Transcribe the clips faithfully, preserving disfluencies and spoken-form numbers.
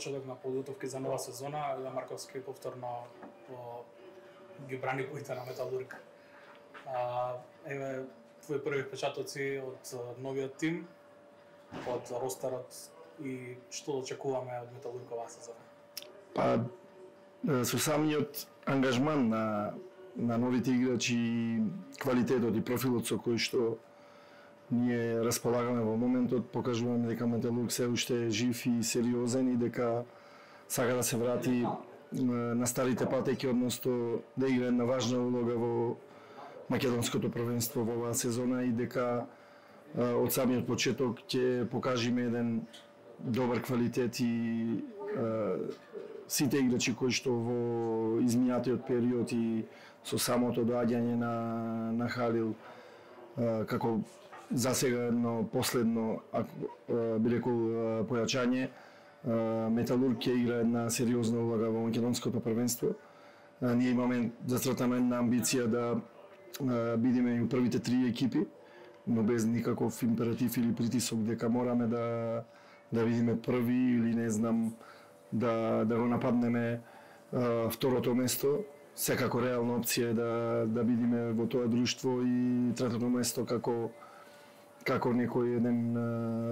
почеток на подготовки за нова сезона, Илија Марковски повторно по ги брани боите на Металург. А, еве твои први впечатоци од новиот тим, од ростерот и што очекуваме од Металург оваа сезона? Па со самиот ангажман на на новите играчи и квалитетот и профилот со кој што ние располагаме во моментот, покажуваме дека Металург се уште е жив и сериозен и дека сака да се врати на старите патеки, односно да играе една важна улога во македонското првенство во оваа сезона и дека од самиот почеток ќе покажеме еден добар квалитет и сите играчи кои што во изминатиот период и со самото доаѓање на на Халил како засега едно последно, би рекол, појачање, Металург ќе игра една сериозна улога во македонското првенство. Ние имаме зацртана една амбиција да бидеме и првите три екипи, но без никаков императив или притисок дека мораме да да бидеме први или не знам да да го нападнеме второто место. Секако реална опција е да да бидеме во тоа друштво и третото место како како некој еден а,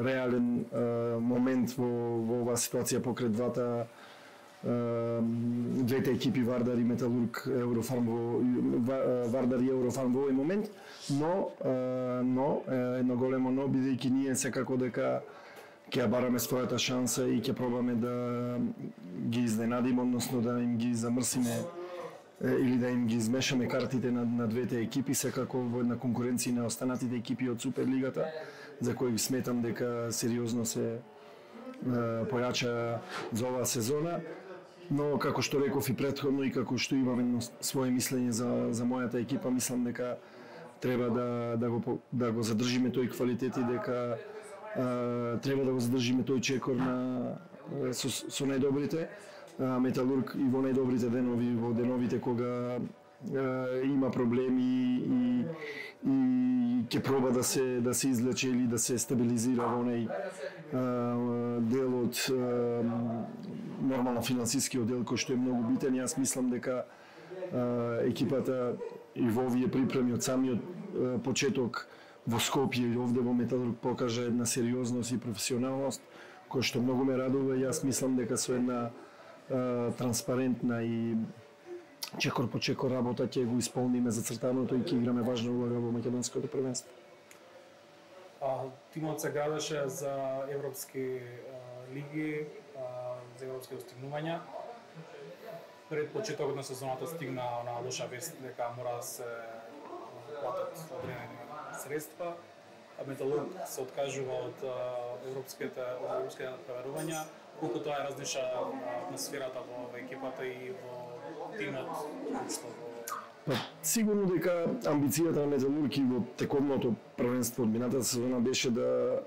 реален а, момент во, во оваа ситуација покрај двата а, двете екипи Вардар и Металург Еврофарм во Вардар и Еврофарм во овој момент, но а, но едно големо но, бидејќи ние секако дека ќе бараме својата шанса и ќе пробаме да ги изненадиме, односно да им ги замрсиме или да им ги измешаме картите на, на двете екипи, секако во една конкуренција на останатите екипи од Суперлигата, за кои сметам дека сериозно се е, појача за оваа сезона. Но како што реков и претходно и како што имам едно свое мислење за за мојата екипа, мислам дека треба да да го да го задржиме тој квалитет и дека е, треба да го задржиме тој чекор на со, со најдобрите. Металург и во најдобрите денови, во деновите кога е, има проблеми и и ќе проба да се да се излече или да се стабилизира во онај дел од нормално финансискиот дел кој што е многу битен. Јас мислам дека е, екипата и во овие припреми од самиот е, почеток во Скопје и овде во Металург покажа една сериозност и професионалност кој што многу ме радува. Јас мислам дека со една транспарентна и чекор по чекор работа ќе го исполниме зацртаното и ќе играме важна улога во македонското првенство. А, тимот се градеше за европски а, лиги, а, за европски достигнувања. Пред почетокот на сезоната стигна на лоша вест дека мора да се платат одредени средства. Металург се откажува од европските од европските преварувања. Колку тоа е различна атмосферата во екипата и во тимот? Па, сигурно дека амбицијата на Металург и во тековното првенство од минатата сезона беше да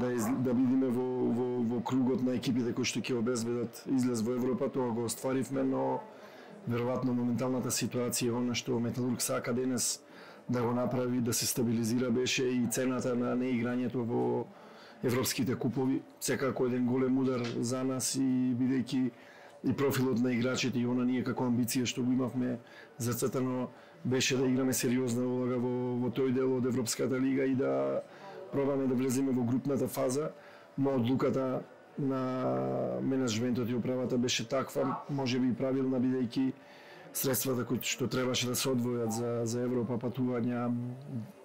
да, из, да бидеме во, во, во кругот на екипите кои што ќе обезбедат излез во Европа. Тоа го остваривме, но веројатно моменталната ситуација она што Металург сака денес да го направи, да се стабилизира, беше и цената на неиграњето во европските купови. Секако еден голем удар за нас и бидејќи и профилот на играчите и она ние како амбиција што го имавме зацртано беше да играме сериозна улога во, во тој дел од Европската лига и да пробаме да влеземе во групната фаза, но одлуката на менеджментот и управата беше таква, можеби и правилна, бидејќи средствата кои што требаше да се одвојат за за Европа, патувања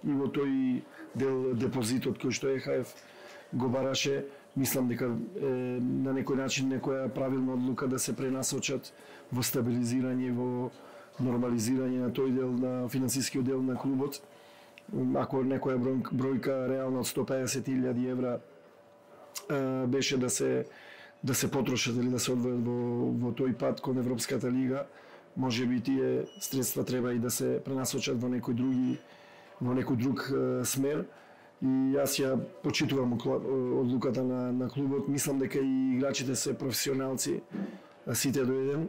и во тој дел депозитот кој што Е Ха Еф го бараше, мислам дека е, на некој начин некоја правилна одлука да се пренасочат во стабилизирање, во нормализирање на тој дел на финансискиот дел на клубот. Ако некоја бројка реално од сто педесет илјади евра е, беше да се да се потрошат или да се одвојат во во тој пат кон Европската лига, можеби тие средства треба и да се пренасочат во некој други во некој друг е, смер. И јас ја почитувам одлуката на, на клубот. Мислам дека и играчите се професионалци, сите до еден.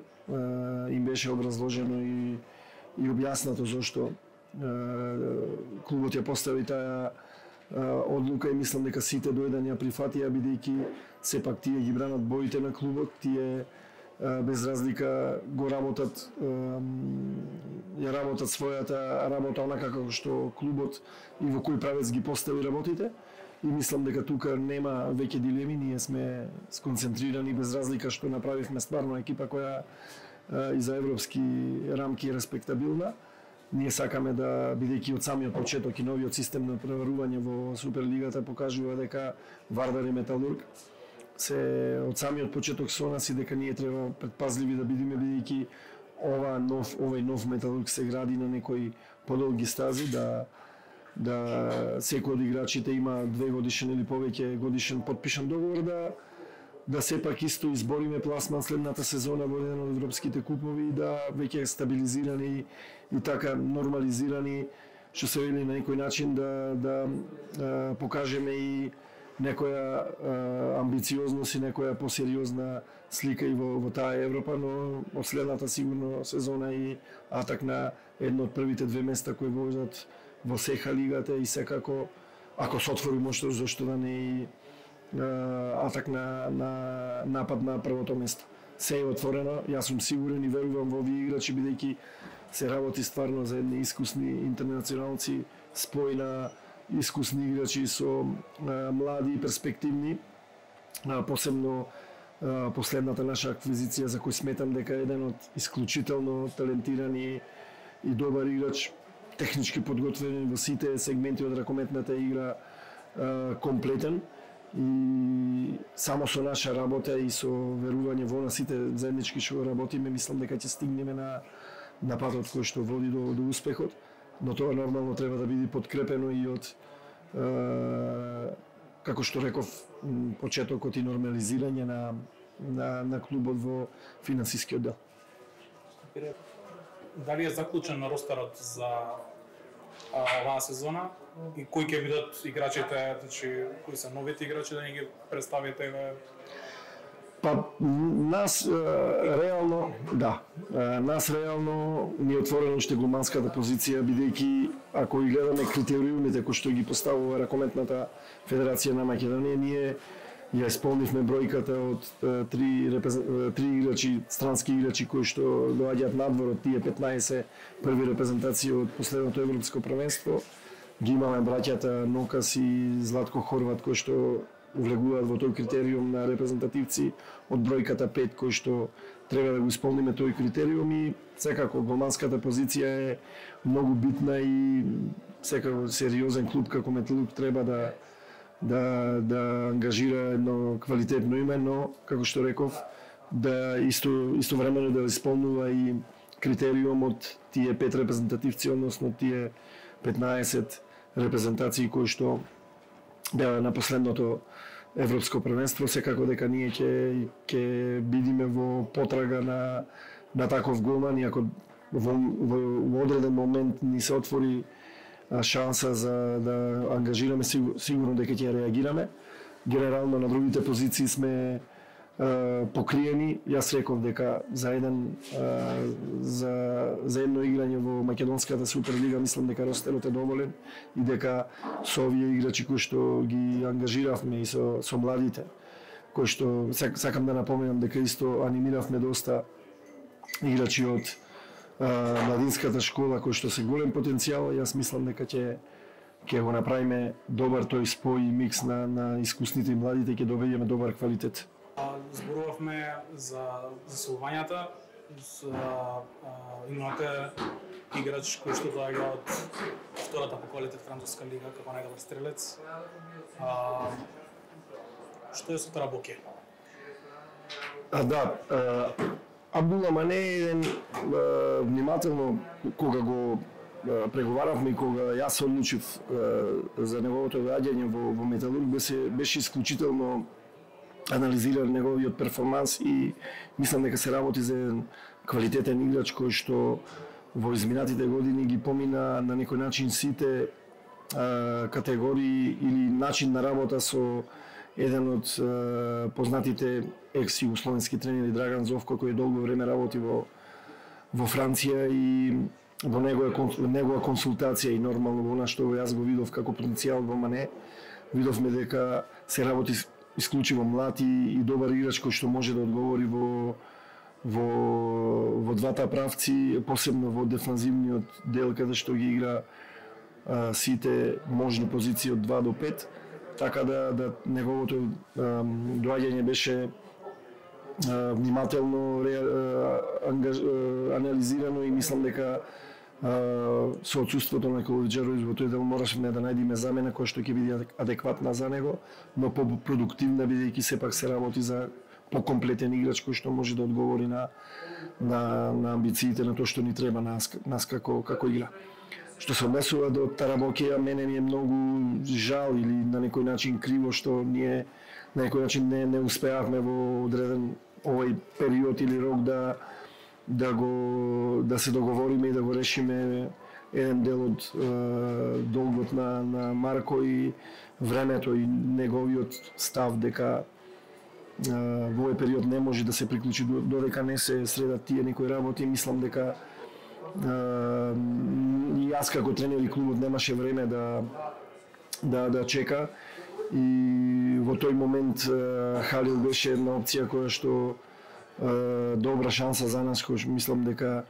Им беше образложено и, и објаснато зошто клубот ја постави таа одлука и мислам дека сите до еден ја прифатија, бидејќи сепак тие ги бранат боите на клубот, тие без разлика го работат, ја работат својата работа онака како што клубот и во кој правец ги постави работите. И мислам дека тука нема веќе дилеми, ние сме сконцентрирани без разлика што направивме стварно екипа која и за европски рамки е респектабилна. Ние сакаме да, бидејќи од самиот почеток и новиот систем на преварување во Суперлигата покажува дека Вардар и Металург се од самиот почеток со нас и дека ние треба предпазливи да бидеме, бидејќи ова нов овој нов Металург се гради на некои подолги стази, да да секој од играчите има две годишен или повеќе годишен подпишан договор, да да сепак исто избориме пласман следната сезона во еден од европските купови, да веќе стабилизирани и така нормализирани, што се вели на некој начин да да а, покажеме и некоја а, амбициозност и некоја посериозна слика и во, во таа Европа, но од следната сигурно сезона и атак на едно од првите две места кои возат во сеха лигата и секако ако се отвори можност зашто да не и атак на, на напад на првото место. Се е отворено, јас сум сигурен и верувам во овие играчи, бидејќи се работи стварно за едни искусни интернационалци, спој на искусни играчи со а, млади и перспективни, а, посебно а, последната наша аквизиција за кој сметам дека е еден од исклучително талентирани и добар играч, технички подготвен во сите сегменти од ракометната игра, а, комплетен. И само со наша работа и со верување во нас сите заеднички што работиме, мислам дека ќе стигнеме на на патот кој што води до, до успехот, но тоа нормално треба да биде подкрепено и од е, како што реков почетокот и нормализирање на на на клубот во финансискиот дел. Дали е заклучен ростерот за а, оваа сезона и кои ќе бидат играчите, значи кои се новите играчи, да ни ги представите? Па нас е, реално, да, е, нас реално ни е отворена уште голманската позиција, бидејќи ако и гледаме критериумите кои што ги поставува Ракометната федерација на Македонија, ние ја исполнивме бројката од три, три играчи, странски играчи кои што доаѓаат надвор од тие петнаесет први репрезентации од последното европско првенство. Ги имаме браќата Нокас и Златко Хорват кои што влегуваат во тој критериум на репрезентативци од бројката пет кои што треба да го исполниме тој критериум и секако голманската позиција е многу битна и секако сериозен клуб како Металург треба да да да ангажира едно квалитетно име, но како што реков да исто истовремено да исполнува и критериум од тие пет репрезентативци, односно тие петнаесет репрезентации кои што беа на последното европско првенство. Секако дека ние ќе ќе бидиме во потрага на на таков голман и ако во, во, во одреден момент ни се отвори шанса за да ангажираме, сигурно дека ќе реагираме. Генерално на другите позиции сме е, покриени. Јас реков дека за еден е, за за едно играње во македонската Суперлига мислам дека ростерот е доволен и дека со овие играчи кои што ги ангажиравме и со со младите кои што сакам да напоменам дека исто анимиравме доста играчи од младинската школа кој што се голем потенцијал, јас мислам дека ќе ќе го направиме добар тој спој и микс на на искусните и младите, ќе добиеме добар квалитет. Зборувавме за заселувањата, за имате играч кој што доаѓа од втората по квалитет француска лига како најдобар стрелец. А, што е со Тарабоке? А да, а, Абдула Мане е еден е, внимателно кога го е, преговаравме и кога јас се одлучив е, за неговото доаѓање во, во Металург, беше, беше исклучително анализиран неговиот перформанс и мислам дека се работи за еден квалитетен играч кој што во изминатите години ги помина на некој начин сите е, категории или начин на работа со еден од е, познатите екс-југословенски тренери Драган Зовко, кој долго време работи во во Франција и во негова негова консултација и нормално во она што јас го видов како потенцијал во Мане, видовме дека се работи исклучиво млад и, и добар играч кој што може да одговори во во во двата правци, посебно во дефанзивниот дел каде што ги игра а, сите можни позиции од два до пет, така да да неговото а, доаѓање беше а, внимателно ре, а, ангаж, а, анализирано и мислам дека а, со отсуството на Коловиџероvić во тој дел морашме да најдеме замена која што ќе биде адекватна за него, но по-продуктивна бидејќи сепак се работи за покомплетен играч кој што може да одговори на на на амбициите на тоа што ни треба нас, нас како како игра. Што се однесува до Тарабокија, мене ми е многу жал или на некој начин криво што ние на некој начин не не успеавме во одреден овој период или рок да да го да се договориме и да го решиме еден дел од е, долгот на на Марко и времето и неговиот став дека во овој период не може да се приклучи додека не се средат тие некои работи. Мислам дека и јас како тренер и клубот немаше време да да да чека и во тој момент Халил беше една опција која што добра шанса за нас, кој мислам дека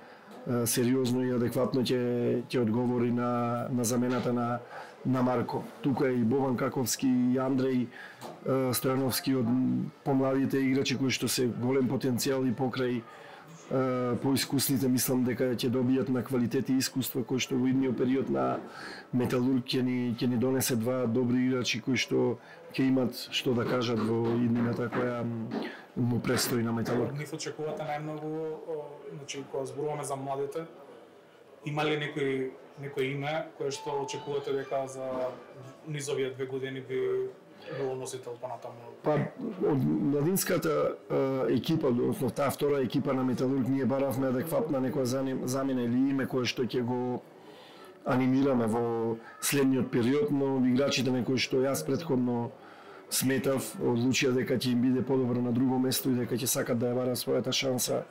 сериозно и адекватно ќе ќе одговори на на замената на на Марко. Тука е и Бован Каковски и Андреј Стојановски од помладите играчи кои што се голем потенцијал и покрај поискусните, мислам дека ќе добијат на квалитет и искуство кои што во идниот период на Металург ќе ни ќе ни донесе два добри играчи кои што ќе имат што да кажат во иднината која му престои на Металург. Нив очекувате најмногу, значи кога зборуваме за младите, има ли некој некој име кое што очекувате дека за низовија две години би било носител понатаму? Па од младинската екипа, односно таа втора екипа на Металург, ние баравме адекватна некоја замена или име кое што ќе го анимираме во следниот период, но играчите на кои што јас претходно сметав одлучија дека ќе им биде подобро на друго место и дека ќе сакат да ја барат својата шанса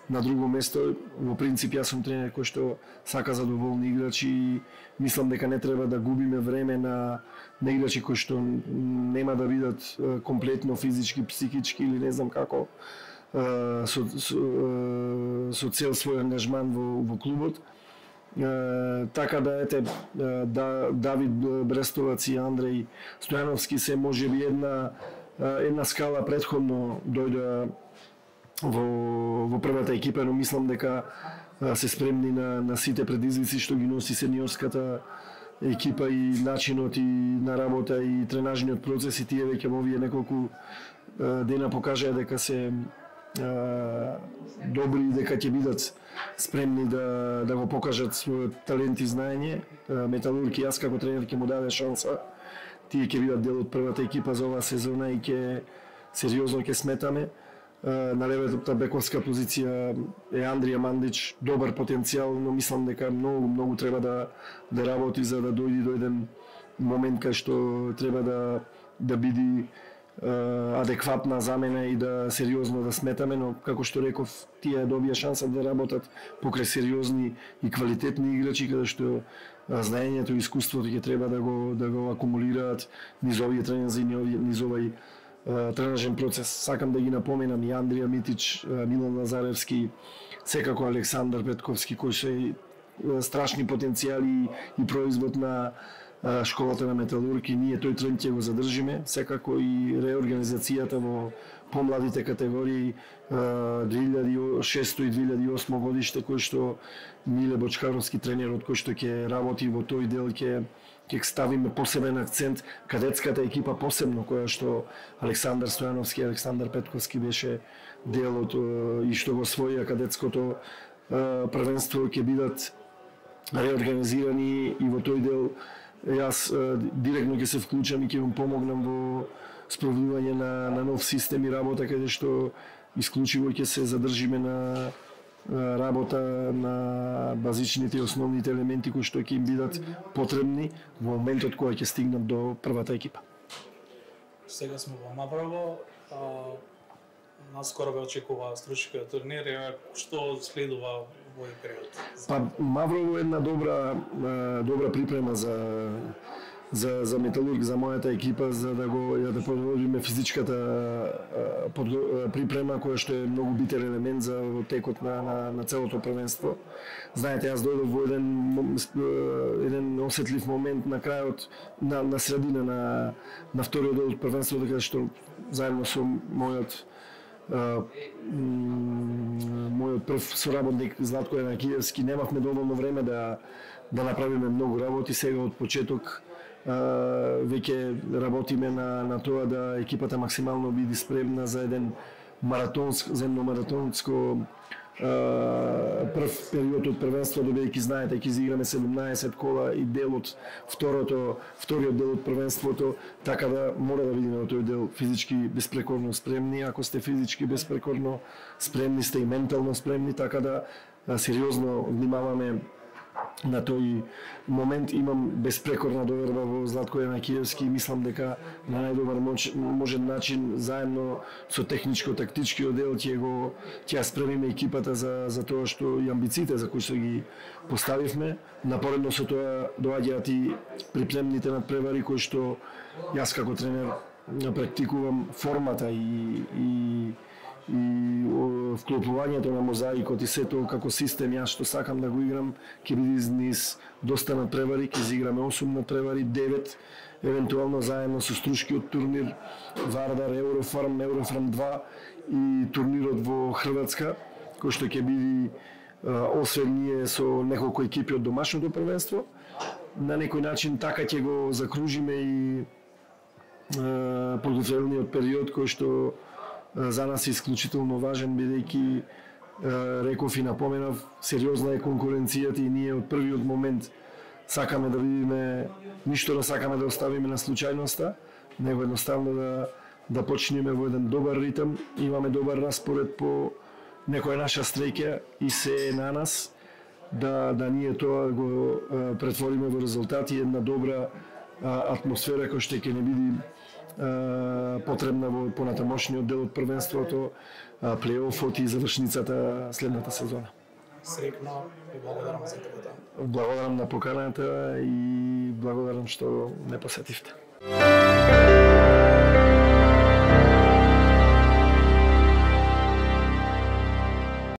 на друго место. Во принцип јас сум тренер кој што сака задоволни играчи и мислам дека не треба да губиме време на на играчи кои што нема да бидат комплетно физички, психички или не знам како со со, со цел свој ангажман во во клубот. Uh, така да ете да, Давид Брестовац и Андреј Стојановски се можеби една една скала претходно дојде во во првата екипа, но мислам дека се спремни на на сите предизвици што ги носи сениорската екипа и начинот и на работа и тренажниот процес и тие веќе во овие неколку дена покажаа дека се добри и дека ќе бидат спремни да да го покажат својот талент и знаење. Металург и јас како тренер ќе му даде шанса. Тие ќе бидат дел од првата екипа за оваа сезона и ќе сериозно ќе сметаме. На левата бековска позиција е Андрија Мандич, добар потенцијал, но мислам дека многу многу треба да да работи за да дојде до еден момент кај што треба да да биде адекватна замена и да сериозно да сметаме, но како што реков, тие добија шанса да работат покрај сериозни и квалитетни играчи каде што знаењето и искуството ќе треба да го да го акумулираат низ овие тренинзи, низ овој тренажен процес. Сакам да ги напоменам и Андрија Митич, Милан Лазаревски, секако Александар Петковски, кои се страшни потенцијали и производ на школата на Металург и ние тој тренд ќе го задржиме, секако и реорганизацијата во помладите категории две илјади и шесто и две илјади и осмо годиште кој што Миле Бочкаровски тренерот кој што ќе работи во тој дел ќе ќе ставиме посебен акцент, кадетската екипа посебно која што Александар Стојановски и Александар Петковски беше дел од и што го освоија кадетското првенство ќе бидат реорганизирани и во тој дел јас директно ќе се вклучам и ќе им помогнам во спроведување на, на нов систем и работа каде што исклучиво ќе се задржиме на работа на базичните и основните елементи кои што ќе им бидат потребни во моментот кога ќе стигнат до првата екипа. Сега сме во Маврово, а, наскоро ве очекува стручкиот турнир, што следува во овој период? Па Маврово е една добра добра припрема за за за Металург, за мојата екипа, за да го ја да подобриме физичката под, припрема која што е многу битен елемент за текот на на, на целото првенство. Знаете, јас дојдов во еден еден осетлив момент на крајот на на средина на на вториот дел од првенството, каде што заедно со мојот Uh, мојот прв соработник Златко Јанакиевски немавме доволно време да да направиме многу работи. Сега од почеток uh, веќе работиме на на тоа да екипата максимално биде спремна за еден маратонско земно маратонско Uh, прв период од првенство, добејќи знаете ќе изиграме седумнаесет кола и дел од второто вториот дел од првенството, така да мора да видиме во тој дел физички безпрекорно спремни. Ако сте физички безпрекорно спремни, сте и ментално спремни, така да uh, сериозно внимаваме на тој момент. Имам безпрекорна доверба во Златко Јанакиевски и мислам дека на најдобар можен начин заедно со техничко-тактичкиот дел ќе го ќе спремиме екипата за за тоа што и амбициите за кои што ги поставивме. Напоредно со тоа доаѓаат и припремните надпревари кои што јас како тренер практикувам формата и и и вклопувањето на мозаикот и сето како систем јас што сакам да го играм ќе биде низ доста надпревари, ќе изиграме осум надпревари, девет евентуално заедно со струшкиот турнир Вардар, Еврофарм, Еврофарм два и турнирот во Хрватска, кој што ќе биде освен ние со неколку екипи од домашното првенство. На некој начин така ќе го закружиме и подготвителниот период кој што за нас е исклучително важен, бидејќи реков и напоменав, сериозна е конкуренцијата и ние од првиот момент сакаме да видиме, ништо да сакаме да оставиме на случајноста, него едноставно да да почнеме во еден добар ритм, имаме добар распоред по некоја наша стреќа и се е на нас да да ние тоа го претвориме во резултати, една добра атмосфера која што ќе не биде потребна во понатамошниот дел од првенството, плейофот и завршницата следната сезона. Среќно и благодарам за тоа. Благодарам на поканата и благодарам што ме посетивте.